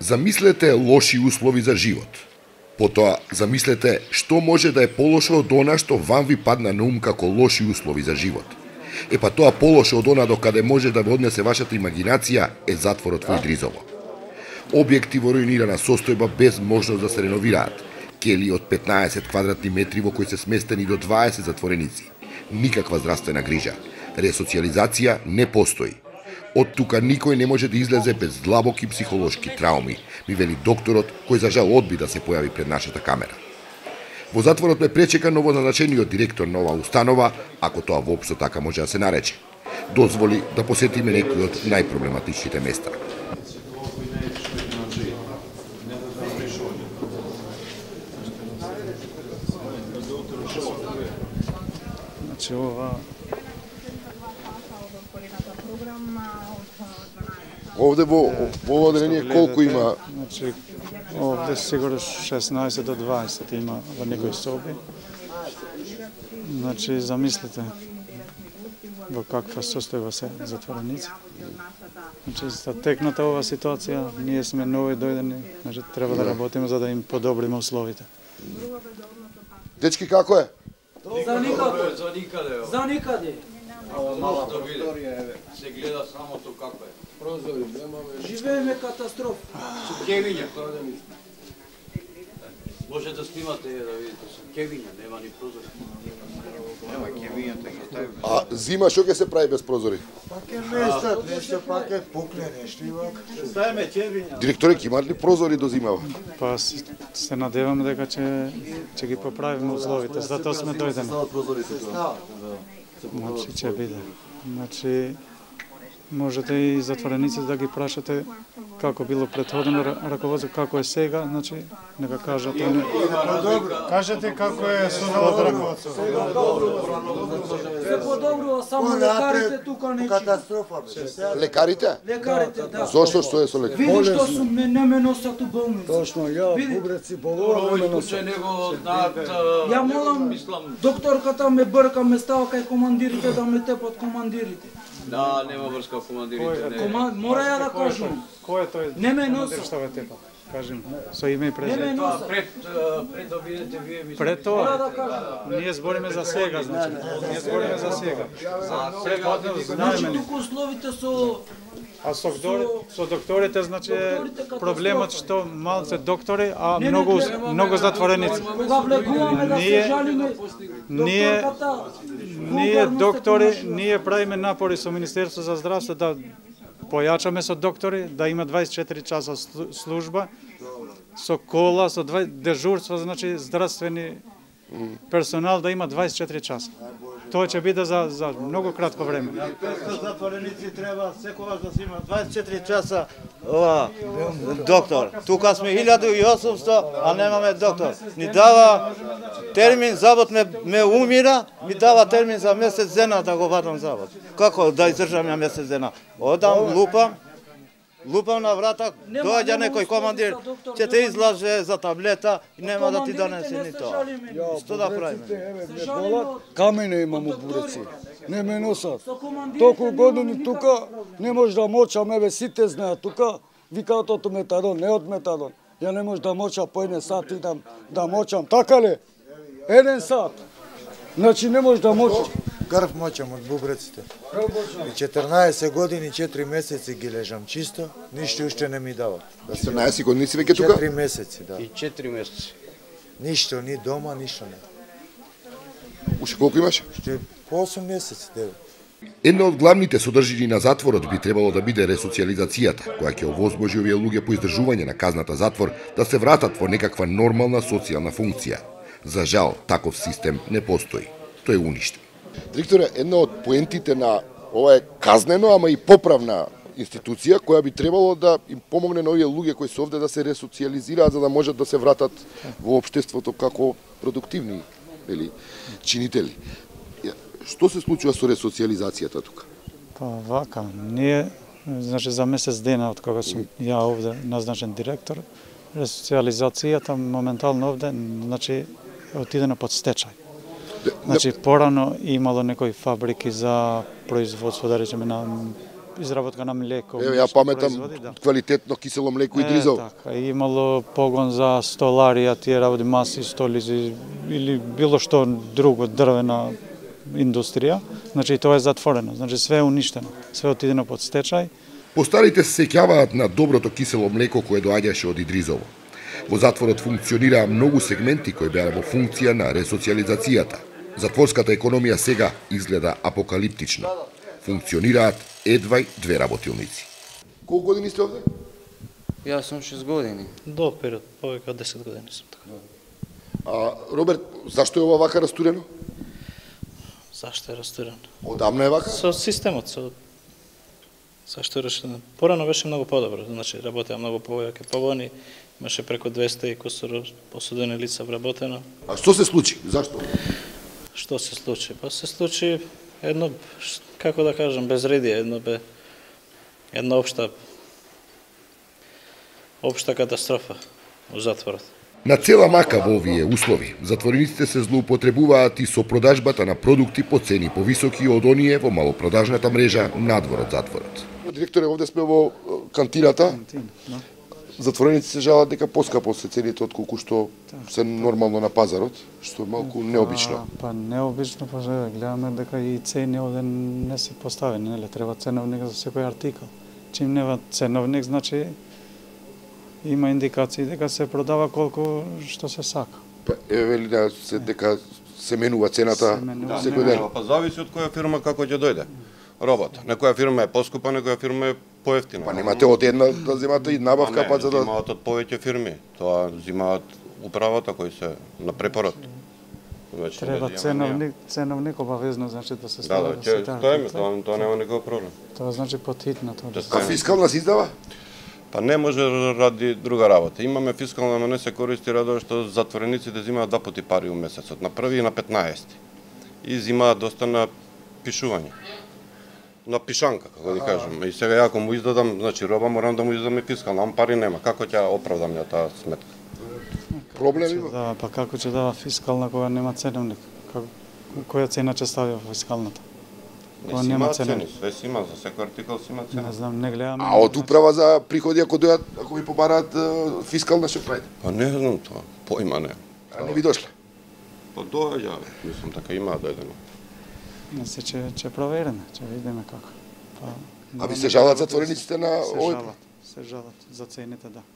Замислете лоши услови за живот. Потоа, замислете што може да е полошо од она што вам ви падна на ум како лоши услови за живот. Па тоа полошо од она докаде може да ве однесе вашата имагинација е затворот во Идризово. Објекти во руинирана состојба без можност да се реновираат. Кели од 15 квадратни метри во кои се сместени до 20 затвореници. Никаква здравствена грижа. Ресоциализација не постои. Од тука никој не може да излезе без длабоки психолошки трауми, ми вели докторот, кој за жал одби да се појави пред нашата камера. Во затворот ме пречека новозначениот директор на оваа установа, ако тоа воопшто така може да се нарече. Дозволи да посетиме некои од најпроблематичните места. Значи ова Овде во ова одделение колку има? Значи овде сигурно 16 до 20 има во некои соби. Значи замислете во каква состојба се затвореници. Значи за текната ова ситуација ние сме нови дојдени, значи треба да работиме за да им подобриме условите. Дечки, како е? За никаде. За никаде. Мала прозорија се гледа самото како е. Прозори немаме. Живееме катастрофа. Кевиња. Може да снимате да видите со кевиња, нема ни прозори. Нема кевињата ги стави. А зима што ќе се прави без прозори? Пак е местат, нешто пак е пукне нешто и вака. Ставиме кевиња. Директоре, ќе имаат ли прозори до зимава? Па се надевам дека ќе ги поправиме условите, затоа сме дојдени. Значи ќе биде. Значи можете и затворениците да ги прашате како било претходно раководство, како е сега, значи нека кажат они. Кажете како е со новото раководство. Се подобрува, само лекарите тука не Катастрофа бе. Лекарите? Лекарите, да. Зошто што е со лекарите? Види што су не ме носат у болница. Точно, ја бубреци болувам Овој ме случај него знаат. Ја молам докторката ме брка, ме става кај командирите да ме тепат командирите. Да, нема врска командирите. Мора ја да кажам. Кој е тој? Не ме носат. Што ве тепа? Кажем со име и Не ме презиме. носат. Пред да видите вие ми. Пред Мора тоа да кажам. ние збориме за сега, значи. Ние збориме за сега. Сега Значи знаеме. тука условите со А со докторите, значи проблемот што малце доктори, а Не, многу затвореници. кога влегуваме да се Ние- жалиме, Ние докторката ние вулгарно се доктори, понашува. ние правиме напори со Министерство за здравство да појачаме со доктори, да има 24 часа служба, со кола, со дежурство, значи здравствени персонал да има 24 часа. Тоа ќе биде за многу кратко време. 500 затвореници треба секогаш да се има 24 часа ова доктор. Тука сме 1800, а немаме доктор. Ни дава термин, завод ме умира, ми дава термин за месец дена да го вадам завод. Како да издржам ја месец дена? Одам, лупам на врата, доаѓа некој командир, ќе те излаже за таблета и нема да ти донесе ни тоа. Што да правиме? Камене имам у буреци. Не ме носат. Толку години тука не може да мочам, еве сите знаат тука, викаат од метадон, не од метадон. Ја не може да мочам по 1 сат идам да мочам, така ли? 1 сат. Значи не може да мочам. Крв мочам од бубреците. И 14 години, 4 месеци ги лежам чисто, ништо уште не ми дават. 14 години си веќе тука? 4 месеци, да. И 4 месеци. Ништо, ни дома, ништо не. Уште колку имаш? Уште по 8 месеци, 9. Една од главните содржини на затворот би требало да биде ресоциализацијата, која ќе овозможи овие луѓе по издржување на казната затвор да се вратат во некаква нормална социјална функција. За жал, таков систем не постои. Тој е уништен. Директоре, една од поентите на ова е казнено, ама и поправна институција која би требало да им помогне на овие луѓе кои се овде да се ресоциализираат за да можат да се вратат во општеството како продуктивни или чинители. Што се случува со ресоциализацијата тука? Па вака, ние значи за месец дена од кога сум ја овде назначен директор, ресоциализацијата моментално овде значи отидена под стечај. Значи, порано имало некои фабрики за производство, да речеме, на изработка на млеко. Ја паметам квалитетно кисело млеко и дризол. Така, имало погон за столарија, тие работи, маси, столици или било што друго, дрвена индустрија. Значи, тоа е затворено. Значи, све е уништено. Све отидено под стечај. Постарите се сеќаваат на доброто кисело млеко кое доаѓаше од Идризово. Во затворот функционираа многу сегменти кои беа во функција на ресоциализацијата. Затворската економија сега изгледа апокалиптично. Функционираат едвај 2 работилници. Колку години сте овде? Јас сум 6 години. До период, повеќе од 10 години сум така. А Роберт, зашто е ова вака растурено? Зашто е растурено? Одамна е вака? Со системот, зашто е решено. Порано беше многу подобро, значи работеа многу повеќе погони, имаше преку 200 и кусор посудени лица вработено. А што се случи? Зашто? Што се случи? Па се случи едно, како да кажам, безредие, една општа катастрофа во затворот. На цела мака во овие услови, затворениците се злоупотребуваат и со продажбата на продукти по цени повисоки од оние во малопродажната мрежа надвор од затворот. Директоре, овде сме во кантината. Затвореници се жалат дека поскапо се цените од колку што се нормално на пазарот, што е малку необично. Па необично, па гледаме дека и цени овде не се поставени, нели? Треба ценовник за секој артикал. Чим нема ценовник, значи има индикации дека се продава колку што се сака. Па вели дека се менува цената секој ден. Па зависи од која фирма како ќе дојде робот. Некоја фирма е поскупа, некоја фирма е поевтина. Па немате од една да земате и набавка, па за да Имаат од повеќе фирми. Тоа земаат управата кои се на препорот. Треба ценовник обавезно, значи да се стави. Да, тоа нема никаков проблем. Тоа значи потхитно тоа. А фискална се издава? Па не може ради друга работа. Имаме фискална, но не се користи радо што затворениците земаат 2 пати пари у месецот, на 1 и на 15. И земаат доста на пишување. На пишанка, како да кажем. И сега ја ако му издадам, значи роба, морам да му издадам и фискална, ам пари нема. Како ќе оправдам ја таа сметка? Проблем има? Да, па како ќе дава фискална кога нема ценовник? Која цена ќе стави во фискалната? Не си има цени, све си има, за секој артикал си има цена. Не знам, не гледам. А од управа за приходи, ако дојат, ако ви побараат фискална, што правите? Па не знам тоа, поима не. А не ви дошле? Па доаѓа, мислам така има дојдено. Не се ќе провериме, ќе видиме како. А ви се жалат затворениците на овој? Се жалат за цените, да.